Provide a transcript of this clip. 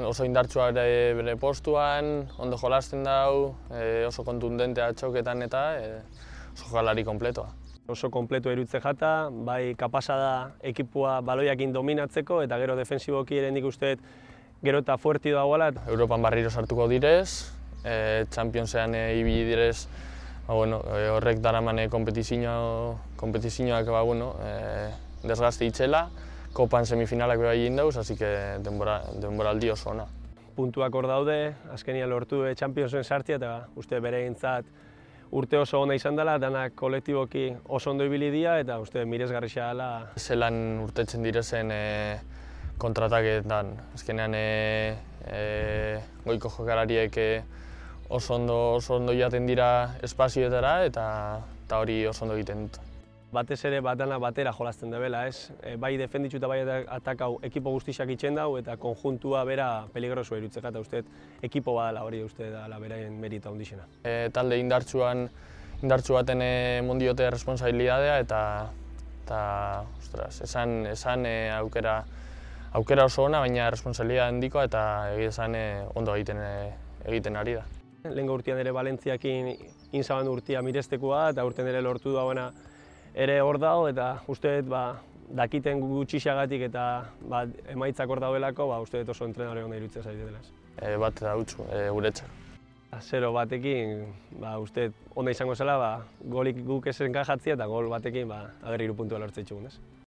Oso indartsua bere postuan, ondo jolasten dau, oso kontundentea txoketan eta oso jokalari konpletoa. Oso kompletu erutze jata, bai kapasa da ekipua baloiakin dominatzeko eta gero defensiboki ere nik uste gero eta fuerti dagoela. Europan barriro sartuko direz, Championsean ibili direz, horrek daramane kompetizioak desgazte itxela, Kopan semifinalak beha egin dauz, así que denboraldi oso ona. Puntuak hor daude, azkenian lortu Championsen sartzea eta uste beregintzat urte oso ona izan dela, danak kolektiboki oso ondo ibili dira eta uste miresgarria dela. Zelan urtetzen direzen kontrataketan, azkenean goiko jokalariek oso ondo jaten dira espazioetara eta hori oso ondo egiten dut. Batez ere dana batera jolasten debela, ez? Bai defenditzu eta bai atakau ekipo guztiak itxen dau eta konjuntua bera peligrosoa irutzeka eta uste ekipo badala hori uste dela beraien merita handixena. Talde indartsu baten mondiote responsabilidadea eta esan aukera oso ona, baina responsabilidade handikoa eta esan ondo egiten ari da. Lehengo urtean ere Valentziakin inzaban urtea mirestekoa eta urten ere lortu dauena ere hor dago eta uste dakiten gutxixagatik eta emaitzak hor daudelako, uste oso entrenadore hona iruditzen zaite dela. Bat eta utzu, guretzak. 0-batekin uste onda izango zela, golik guk ez enkajatzea eta gol batekin ager 3 puntua lortzen txugun.